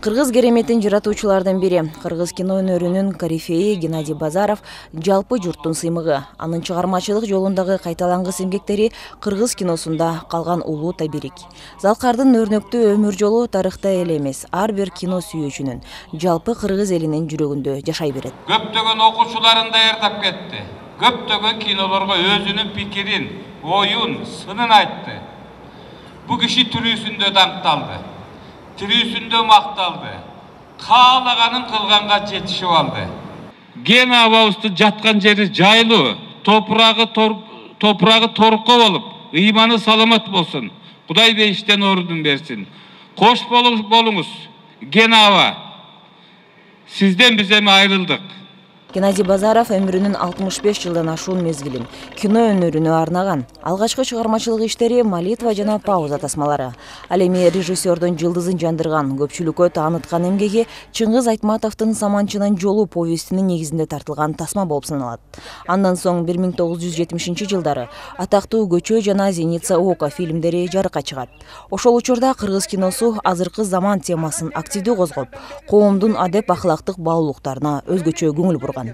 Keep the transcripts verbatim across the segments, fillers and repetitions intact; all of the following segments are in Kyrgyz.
Кыргыз кереметин жаратуучулардын бири, кыргыз кино өнөрүнүн корифеи Геннадий Базаров жалпы журттун сыймыгы. Анын чыгармачылык жолундагы кайталангыс эмгектери кыргыз киносунда калган улуу табирик. Залкардын өрнөктүү өмүр жолу тарыхта эле эмес, ар бир кино сүйүүчүнүн, жалпы кыргыз элинин жүрөгүндө жашай берет. Көптөгөн окуучуларын даярдап кетти. Көптөгөн кинолорго өзүнүн пикирин, оюн, сынын айтты. Бу киши тирүүсүндө даңкталды. Тирүүсүндө макталды. Каалаганын кылганга жетишип алды. Гена абабыздын жаткан жери жайлуу, топурагы топурагы торукко болуп, ыйманы саламат болсун. Кудай бейиштен ордун берсин. Кош болуңуз, Гена аба. Сизден биз эми айрылдык. Геннадий Базаров өмүрүнүн алтымыш беш жылдан ашуун мезгилин кино өнөрүнө арнаган. Алгачкы чыгармачылык иштери «Молитва» жана «Пауза» тасмалары. Ал эми режиссердун жылдызын жандырган, көпчүлүккө тааныткан эмгеги Чыңгыз Айтматовдун «Саманчынын жолу» повестинин негизинде тартылган тасма болуп саналат. Андан соң бир миң тогуз жүз жетимишинчи жылдары атактуу «Көчө» жана «Зеница Ока» фильмдери жарыкка чыгат. Ошол учурда кыргыз киносу азыркы заман темасын активдүү козгоп, коомдун адеп ахлактык баалуулуктарына өзгөчө көңүл бурган.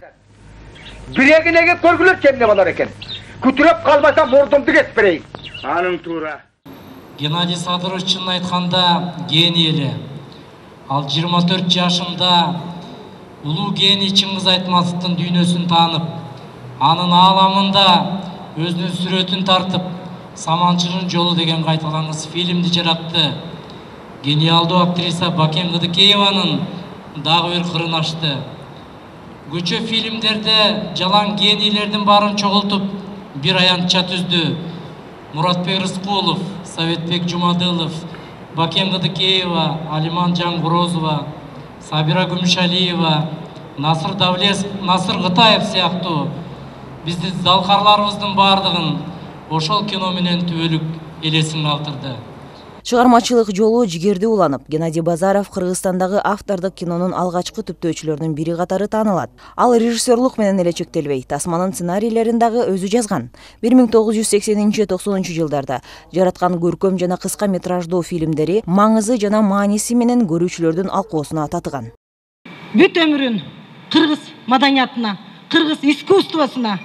Бирегинеге көргүлөр кемне болор экен. Күтүрөп калбаса мурдумду кесип берейин. Аның туура. Геннадий Садырович чын айтканда гений эле. Ал жыйырма төрт жашында улуу гений Чыңгыз Айтматовдун дүйнөсүн таанып, анын ааламында өзүнүн сүрөтүн тартып, «Саманчынын жолу» деген кайталангыс фильмди жаратты. Гениалдуу актриса Бакем Кыдыкееванын дагы бир кырын ачты. Көчө фильмдерде жалаң генийлердин баарын чогултуп, бир аянтча түздү. Муратбек Рыскулов, Советбек Жумадылов, Бакем Кыдыкеева, Алиман Жангурозова, Сабира Гүмүшалиева, Насыр Давлес, Насыр Кытаев сыяктуу биздин залкарларыбыздын баардыгын ошол кино менен түбөлүк элесин калтырды. Чыгармачылык жолу жигерди уланып, Геннадий Базаров Кыргызстандагы автордук кинонун алгачкы түптөөчүлөрүнүн бири катары таанылат. Ал режиссерлук менен эле чектелбей, тасманын сценарийлерин дагы өзү жазган. бир миң тогуз жүз сексенинчи токсонунчу жылдарда жараткан көркөм жана кыска метраждуу фильмдери маңызы жана мааниси менен көрүүчүлөрдүн алкоосуна татыган. Бүт өмүрүн кыргыз маданиятына, кыргыз искусствосуна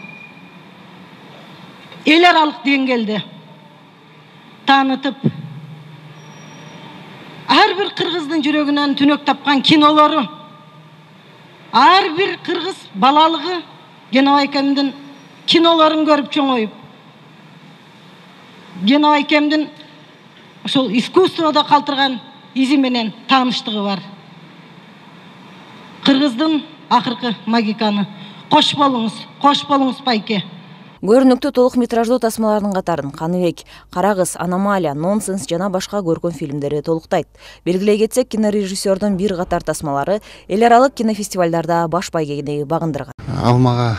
эл аралык деңгээлде таанытып, ар бир кыргыздын жүрөгүнөн түнөк тапкан кинолору, ар бир кыргыз балалыгы Геннадий кинолорун көрүп чоңоюп, Геннадий ошол искусствода калтырган изи менен тааныштыгы бар. Кыргыздын акыркы магиканы. Кош болуңуз, кош болуңуз байке. Көрүнүктүү толук метраждуу тасмалардын катарын Каныбек, Карагыз, Аномалия, Нонсенс жана башка көркөм фильмдери толуктайт. Белгилей кетсек, кинорежиссердун бир катар тасмалары эл аралык кинофестивалдарда баш байгени багындырган. Ал мага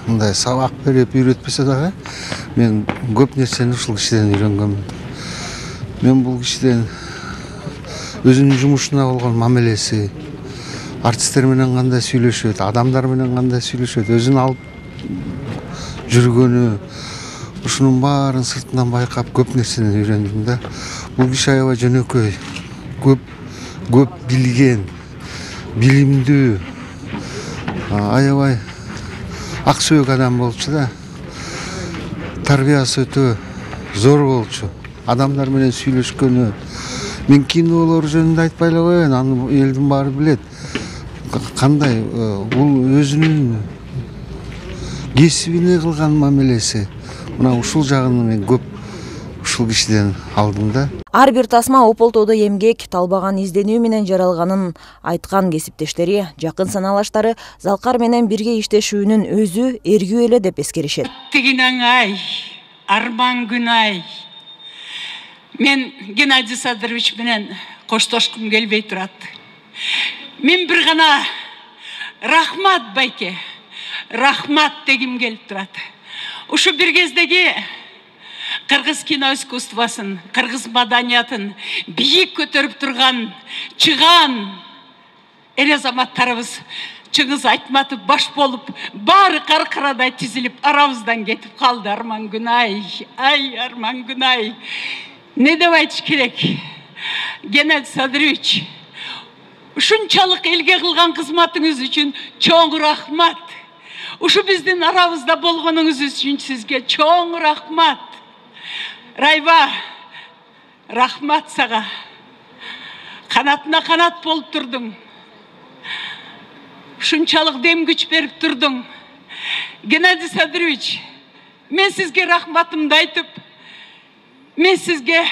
мындай сабак берип үйрөтпөсө дагы, мен көп нерсени ушул кишиден үйрөнгөм. Мен бул кишиден өзүнүн жумушуна болгон мамилеси, артисттер менен кандай сүйлөшөт, адамдар менен кандай сүйлөшөт, өзүн алып жүргөнү, ушунун баарын сыртынан байкап көп нерсени үйрөндүм да. Бул киши аябай жөнөкөй, көп көп билген, билимдүү, аябай ак сөөк адам болчу да. Тарбиясы өтө зор болчу. Адамдар менен сүйлөшкөнү. Мен кинолор жөнүндө айтпай эле коеюн, аны элдин баары билет. Кандай бул өзүнүн кесибине кылган мамилеси. Мына ушул жагын мен көп ушул кишиден алдым да. Ар бир тасма ополтоодо эмгек, талбаган изденүү менен жаралганын айткан кесиптештери, жакын саналаштары Залкар менен бирге иштешүүнүн өзү эргүү эле деп эскеришет. Тигинаңай, арман күнай. Мен Геннадий Садырович менен коштошкум келбей турат. Мен бир гана рахмат байке, рахмат дегим келип турат. Ушу бир кездеги кыргыз кино искусствосын, кыргыз маданиятын бийик көтөрүп турган, чыган эл азаматтарыбыз Чыңгыз Айтматов баш болуп, баары каркарадай тизилип, арабыздан кетип калды. Арман Күнай, ай Арман Күнай. Не деп айтыш керек? Геннадий Садырович ушунчалык элге кылган кызматыңыз үчүн чоң рахмат. Ушу биздин арабызда болгонуңуз үчүн сизге чоң рахмат. Райба, рахмат сага. Канатына канат болуп турдуң. Ушунчалык дем күч берип турдуң. Геннадий Садырович, мен сизге рахматымды айтып, мен сизге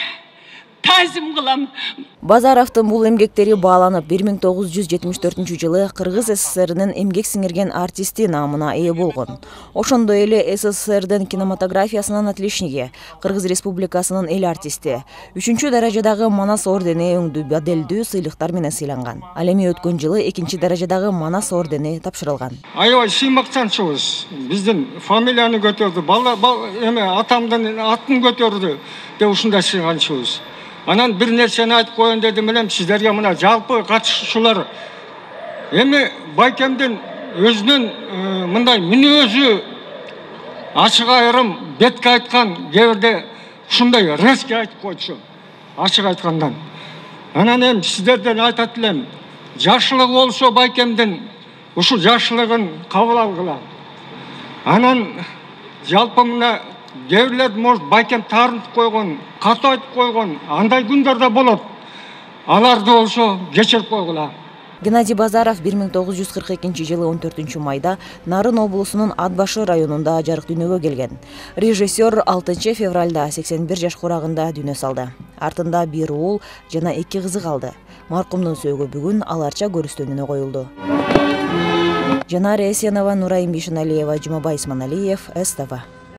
тазим кылам. Базаровдун бул эмгектери бааланып, бир миң тогуз жүз жетимиш төртүнчү жылы Кыргыз СССРинин эмгек сиңирген артисти наамына ээ болгон. Ошондой эле СССРдин кинематографиясынын отличниги, Кыргыз Республикасынын эл артисти, үчүнчү даражадагы Манас ордени өңдүү баделдүү сыйлыктар менен сыйланган. Ал эми өткөн жылы экинчи даражадагы Манас ордени тапшырылган. Аябай сыймактанчыбыз. Биздин фамилияны көтөрдү, бала эме атамдын атын көтөрдү деп ушундай сыйганчыбыз. Анан бир нерсени айтып коеюн дедим элем сиздерге, мына жалпы катышуучулар. Эми байкемдин өзүнүн мындай мүнөзү ачык айрым бетке айткан кээ ушундай резкий айтып койчу, ачык айткандан. Анан эми сиздерден айтат элем, жашылыгы болсо байкемдин ушул жашылыгын кабыл алгыла. Анан жалпы мына кээ бирлер может байкем таарынтып койгон, катуу айтып койгон, андай күндөр да болот. Аларды болсо кечирип койгула. Геннадий Базаров бир миң тогуз жүз кырк экинчи жылы он төртүнчү майда Нарын облусунун Ат башы районунда жарык дүйнөгө келген. Режиссер алтынчы февралда сексен бир жаш курагында дүйнө салды. Артында бир уулу жана эки кызы калды. Маркумдун сөөгү бүгүн аларча көрүстөнүнө коюлду. Жанара Эсенова, Нурайым Бишеналиева, Жумабай Исманалиев, СТВ.